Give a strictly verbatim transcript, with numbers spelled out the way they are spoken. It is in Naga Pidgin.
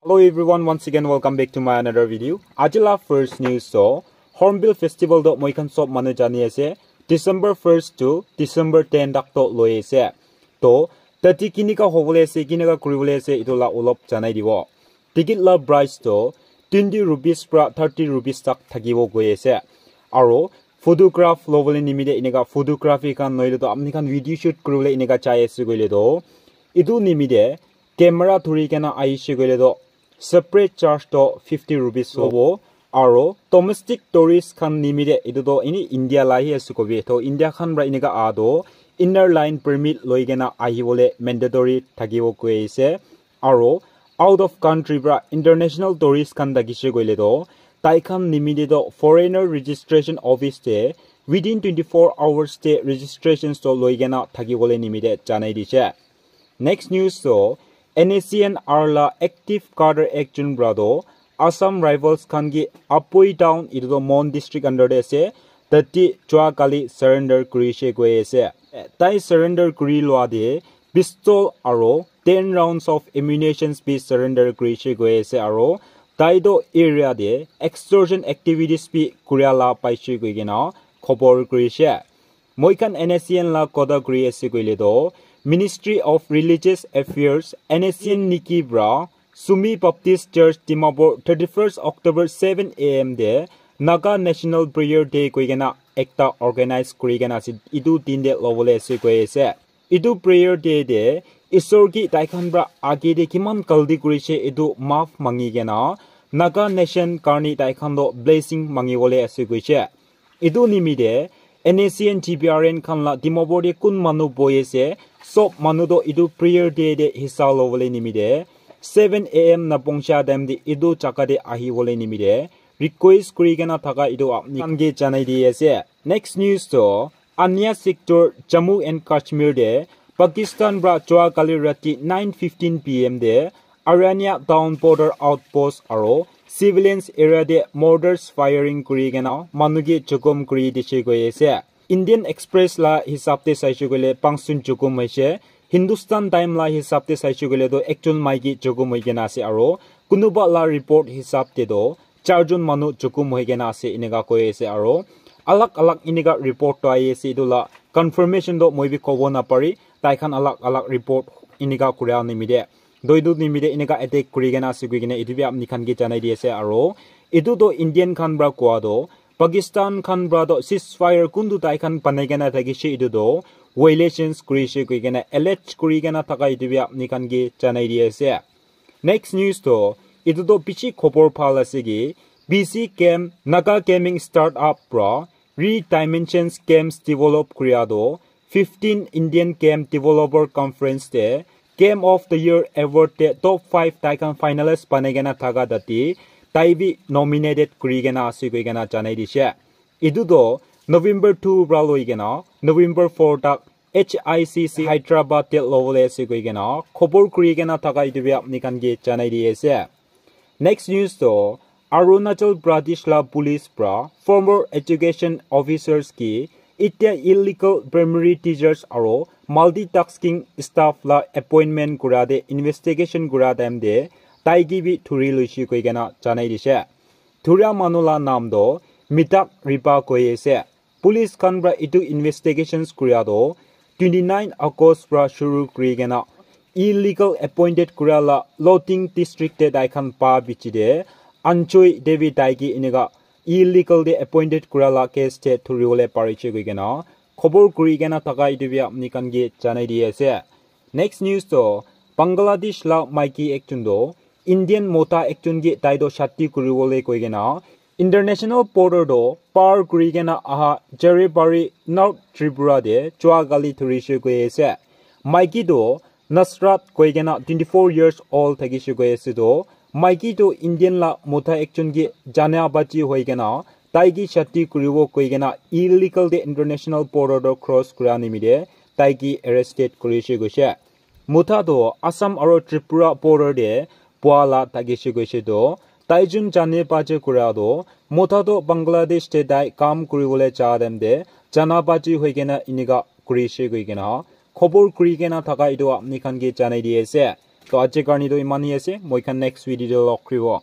Hello everyone, once again welcome back to my another video. Aji la first news to Hornbill Festival to moi khan sob manu jani ase, December first to December ten tak to loi ase. To tati kinika hobole ase, kinika kuribole ase, itu la olop janai dibo. Ticket la price to twenty rupees pra thirty rupees tak thakibo koi ase. Aro photograph lobole nimite enika photography khan noile to apni khan video shoot kuribole enika chai ase koile to itu nimite camera dhuri kena ahishe koile to separate charge to fifty rupees hobo. Aro domestic tourist khan nimite itu to ini India la hi ase kobi, to India khan pra enika ah to inner line permit loi kena ahibole mandatory thakibo koi ase. Aro out of country pra international tourist khan thakishe koile to tai khan nimite to foreigner registration office te within twenty-four hours te registrations to loi kena thakibole nimite janai dishe. Next news to N S C N R la active cadre ekjon pra to Assam Rifles khan ki Apoi town itu to Mon district under te ase, tati jua kali surrender kurishe koi ase. Tai surrender kuri lua te pistol aro ten rounds of ammunitions bi surrender kurishe koi ase aro tai to area te extortion activities bi kuria la paishe koi kena khobor kurishe. Moi khan N S C N la kotha kuri ase koile to Ministry of Religious Affairs, N S C N niki pra Sumi Baptist Church Dimapur thirty-first October seven A M te Naga National Prayer Day koi kena ekta organize kuri kena ase, itu din te lobole ase koi ase. Itu prayer day te Isor ki tai khan pra age te kiman galti kurishe itu maaf mangi kena Naga nation karni tai khan to blessing mangi bole ase koishe. Itu nimite N S C N T P R N khan la Dimapur te kun manu bohi ase, sob manu to itu prayer day te hissa lobole nimite seven A M na pongcha time te itu jaga te ahibole nimite request kuri kena thaka itu apni khan ke janai di ase. Next news to Anya sector Jammu and Kashmir te Pakistan pra jua kali rati nine fifteen P M te Aranya town border outpost aro civilians area te mortars firing kuri kena manu ke jokhom kuri dishe koi ase. Indian Express la hisab te saishe koile panchjon jokhom hoishe. Hindustan Time la hisab te saishe koile to ekjon maiki jokhom hoi kena ase aro kunuba la report hisab te to charjon manu jokhom hoi kena ase enika koi ase aro alag alag enika report to ahi ase, etu la confirmation to moi bi kobo napari, tai khan alag alag report enika kuria nimite to etu nimite enika attack kuri kena ase koi kena etu bi apni khan ke janai di ase aro etu to Indian khan pra koa to Pakistan khan pra to ceasefire kuntu tai khan banai kena thakishe etu to violations kurishe koi kena allege kuri kena thaka etu bi apni khan ke janai di ase. Next news to etu to bishi khobor bhal ase ki B C Game Naga Gaming Startup pra Redimensions Games develop kuria to fifteen Indian Game Developer Conference te Game of the Year Award te top five tai khan finalist banai kena thaka tate tai bi nominated kuri kena ase koi kena janai dishe. Etu to November two pra loi kena November four tak H I C C Hyderabad te lobole ase koi kena khobor kuri kena thaka etu bi apni khan ke janai di ase. Next news to Arunachal Pradesh la police pra former education officers ki itya illegal primary teachers aro multitasking staff la appointment kura te investigation kura time te tai ki bi thuri loishe koi kena janai dishe. Thuria manu la naam to Mitak Ripa koi ase. Police khan pra etu investigations kuria to twenty nine August pra shuru kuri kena illegal appointed kuria la Loteng district te tai khan pa bichi te Anchoi Devi tai ki enika illegal te appointed kuria la case te thuri bole parishe koi kena khobor kuri kena thaka etu bi apni khan ke janai di ase. Next news to Bangladesh la maiki ekjon to Indian mota ekjon ke tai to shadi kuri bole koi kena international border to par kuri kena aha Jaribari North Tripura te jua kali thurishe koi ase. Maiki to Nasrat koi kena twenty four years old thakishe koi ase to maiki to Indian la mota ekjon ke jana bachi hoi kena tai ki shadi kuribo koi kena illegal te international border to cross kura nimite tai ki arrested kurishe koishe. Mota to Assam aro Tripura border te pua la thakishe koishe to tai jun jane bachi kura to mota to Bangladesh te tai kam kuribole ja time te jana bachi hoi kena enika kurishe koi kena khobor kuri kena thaka etu apni khan ke janai di ase. To aji karne to iman hi ase, moi khan next video te log kuribo.